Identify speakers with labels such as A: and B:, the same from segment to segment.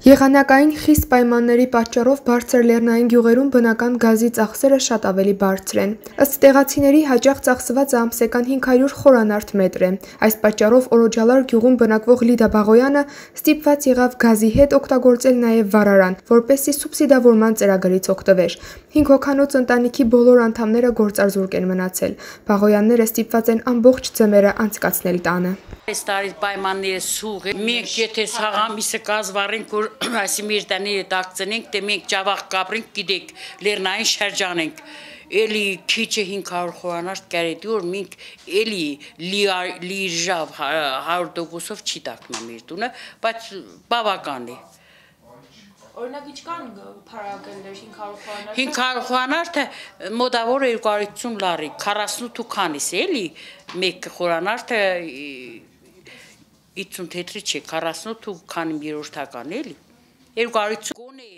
A: Եղանակային խիստ պայմանների պատճառով բարձր լեռնային գյուղերում բնական գազի ծախսերը շատ ավելի բարձր են։ Ըստ տեղացիների հաճախ ծախսվածը ամսական 500 խորանարդ մետր է։ Այս պատճառով Օրոջալար գյուղում բնակվող Լիդա Բաղոյանը ստիպված եղավ գազի հետ օգտագործել նաև վառարան, որպեսզի սուբսիդավորման ծրագրից օգտվեր։ 5 հոգանոց ընտանիքի բոլոր անդամները գործազուրկ են մնացել։ Բաղոյանները ստիպված են ամբողջ ձմեռը անցկացնել տանը։
B: Այս տարի պայմանները սուղ է։ Մենք եթե սաղամիսը կազվառենք, որ այսի մեր տաները տակցնենք, թե մենք ճավախ կապրենք, գիտեք, լեռնային շրջանենք։ Էլի քիչը 500 խորանարդ կարետի, որ մենք էլի լիժավ 100%-ով չի տակնա մեր տունը, բայց բավական է։
C: Օրինակ ինչքան փարակել 500 խորանարդ։
B: 500 խորանարդը մոտավոր 250 լարի, 48 քանիս էլի, մեկ խորանարդը 50 թեթրի չէ, 48 քանի երրորդական էլի։ 250 գոնե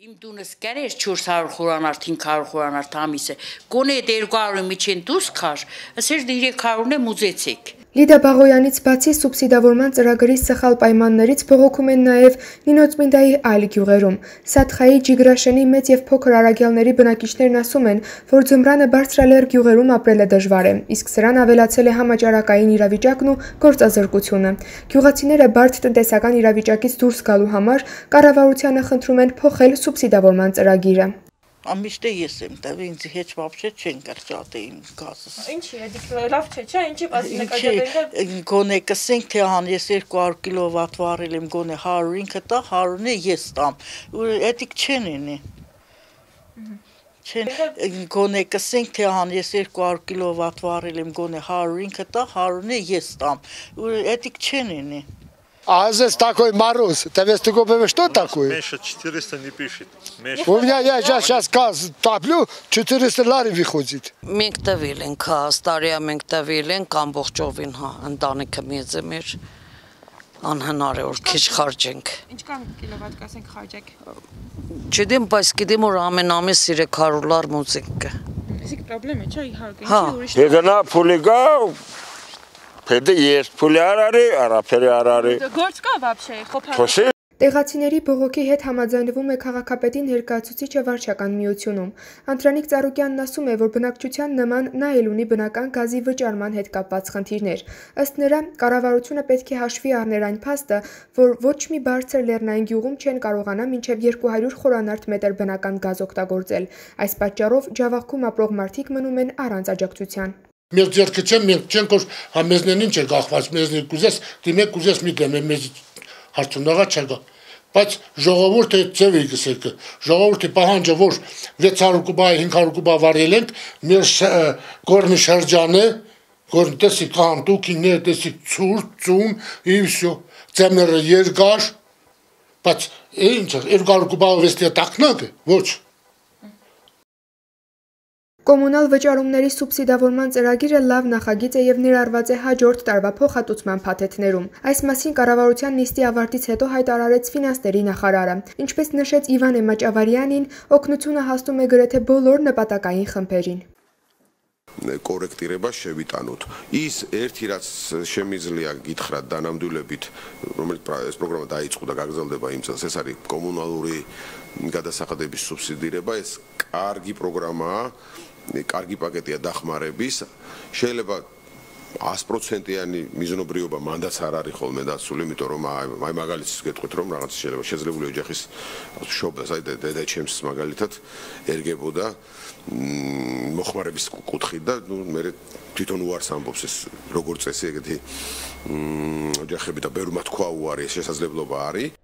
B: իմ տունս կարեր 400 խորանարդ, 500 խորանարդ ամիսը, գոնե 200-ի միջին դուս քար, ասեր 300-ն է մուզեցեք։
A: Լիդա Բաղոյանից բացի սուբսիդավորման ծրագրի սխալ պայմաններից բողոքում են նաև Նինոցմինդայի այլ գյուղերում։ Սաթխայի, Ջիգրաշենի մեծ եւ փոքր արագյալների բնակիչներն ասում են, որ ձմռանը բարձրալեռ գյուղերում ապրելը դժվար է, իսկ սրան ավելացել է համաճարակային իրավիճակն ու գործազրկությունը։ Գյուղացիները բարդ տնտեսական իրավիճակից դուրս գալու համար կառավարությանը խնդրում են փոխել սուբսիդավորման ծրագիրը։
D: Ամիշտե ես եմ տվել, ինձ հետ вообще չեն կրճատեին գազս։
C: Ինչի է, դիք լավ չէ, ինչի բացի կրճատել։
D: Գոնե կսենք թե հան ես 200 կիլովատ վառել եմ, գոնե 105-ը տա, 100-ը ես տամ։ Էդիկ չեն ինի։ Չեն գոնե կսենք թե հան ես 200 կիլովատ варил եմ, գոնե 105-ը տա, 100-ը ես տам։ Էդիկ չեն ինի։
E: А здесь такой мороз. Ты весь такой, что такое?
F: Меньше 400 не пишет.
E: У меня я сейчас газ топлю, 400 лари выходит.
G: Մենք տվել ենք, ստարիա մենք տվել ենք ամբողջովին, ընտանիքը մեծ է մեր, անհնար է որ քիչ խարճենք։
C: Ինչքան կիլովատ կասենք խարճեք։
G: Չգիտեմ, բայց գիտեմ որ ամեն ամիս 300 լար մուծենք։
C: Իսկ պրոբլեմ է, չէ, իհարկե, ինչի ուրիշ։
F: Եգնա փուլիգա Փեդե ես փուլի արարի, արափերի արարի։
C: Գործ կա вообще, խոփա։
A: Տեղացիների բողոքի հետ համաձայնվում է քաղաքապետի ներկայացուցիչը վարչական միությունում։ Անդրանիկ Ծառուկյանն ասում է, որ բնակչության նման նա էլ ունի բնական գազի վճարման հետ կապված խնդիրներ։ Ըստ նրա, կառավարությունը պետք է հաշվի առներ այն փաստը, որ ոչ մի բարձր լեռնային գյուղում չեն կարողանա մինչև 200 խորանարդ մետր բնական գազ օգտագործել։ Այս պատճառով Ջավախքում ապրող մարդիկ մնում են առանց աջակցության։
E: Մեր ձեռքը չեմ, մենք չենք որ մեզնեն ինչ է գախված, մեզնեն կուզես, դիմեք կուզես մի դեմ, մեզ հարցունողա չկա։ Բայց ժողովուրդը ձև է գսեք, ժողովուրդը պահանջը որ 600 կուբա, 500 կուբա վարել ենք, մեր գորնի շրջանը, գորն տեսի կանտուկիներ, տեսի ցուրտ, ծուն, и всё։ Ձմեռը երկար, բայց ինչ 200 կուբա վեստի տակնակ է, ոչ։
A: Կոմունալ վճարումների սուբսիդավորման ծրագիրը լավ նախագիծ է եւ ներառված է հաջորդ տարվա փոխհատուցման փաթեթներում։ Այս մասին կառավարության նիստի ավարտից հետո հայտարարեց ֆինանսների նախարարը։ Ինչպես նշեց Իվան Էմաճավարյանին, օգնությունը հասնում է գրեթե բոլոր նպատակային խմբերին։
H: Կորեկտիրება შევიტანოთ. ის ერთი რაც შემიძლია გითხრათ დანამდვილებით, რომელიც ეს პროგრამა დაიწყო და გაგრძელდება იმ წელს, ეს არის კომუნალური გადასახადების სუბსიდირება, ეს კარგი პროგრამაა, კარგი პაკეტია დახმარების, შეიძლება 100%-იანი მიზნობრიობა მანდაც არ არის ხოლმე დაცული, იმიტომ რომ აი მაგალითს გეტყვით რომ რაღაც შეიძლება შეძლებული ოჯახის მშობელს, აი დედაჩემს მაგალითად ერგებოდა მოხმარების კუთხით და ნუ მე თვითონ უარს ამბობს ეს როგორ წესი ეგეთი ოჯახები და ბევრმა თქვა უარი ეს შესაძლებლობა არის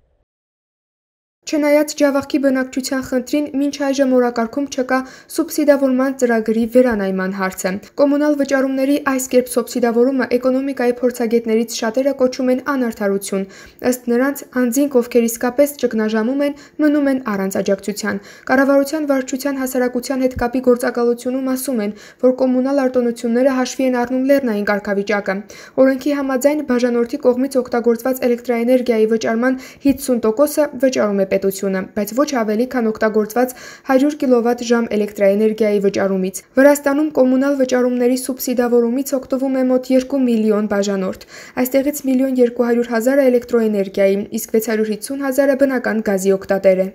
A: Չնայած Ջավախքի բնակչության խնդրին մինչ այժմ օրակարգում չկա սուբսիդավորման ծրագրի վերանայման հարցը։ Կոմունալ վճարումների այս կերպ սուբսիդավորումը էկոնոմիկայի փորձագետներից շատերը կոչում են անարդարություն։ Ըստ նրանց, անձինք, ովքեր իսկապես ճգնաժամում են, մնում են առանց աջակցության։ Կառավարության վարչության հասարակության հետ կապի գործակալությունում ասում են, որ կոմունալ արտոնությունները հաշվի են առնում լեռնային կարգավիճակը։ Օրենքի համաձայն բաժանորդի կողմից օգտագործված էլեկտրաէներգիայի վճարման 50%-ը վճարում է պետությունը, բայց ոչ ավելի, քան օգտագործված 100 կՎտ-ժամ էլեկտրաէներգիայի վճարումից։ Վրաստանում կոմունալ վճարումների սուբսիդավորումից օգտվում է մոտ 2 միլիոն բաժանորդ։ Այստեղից 1 200 000 էլեկտրոէներգիայի, իսկ 650 000-ը բնական գազի օգտատեր է։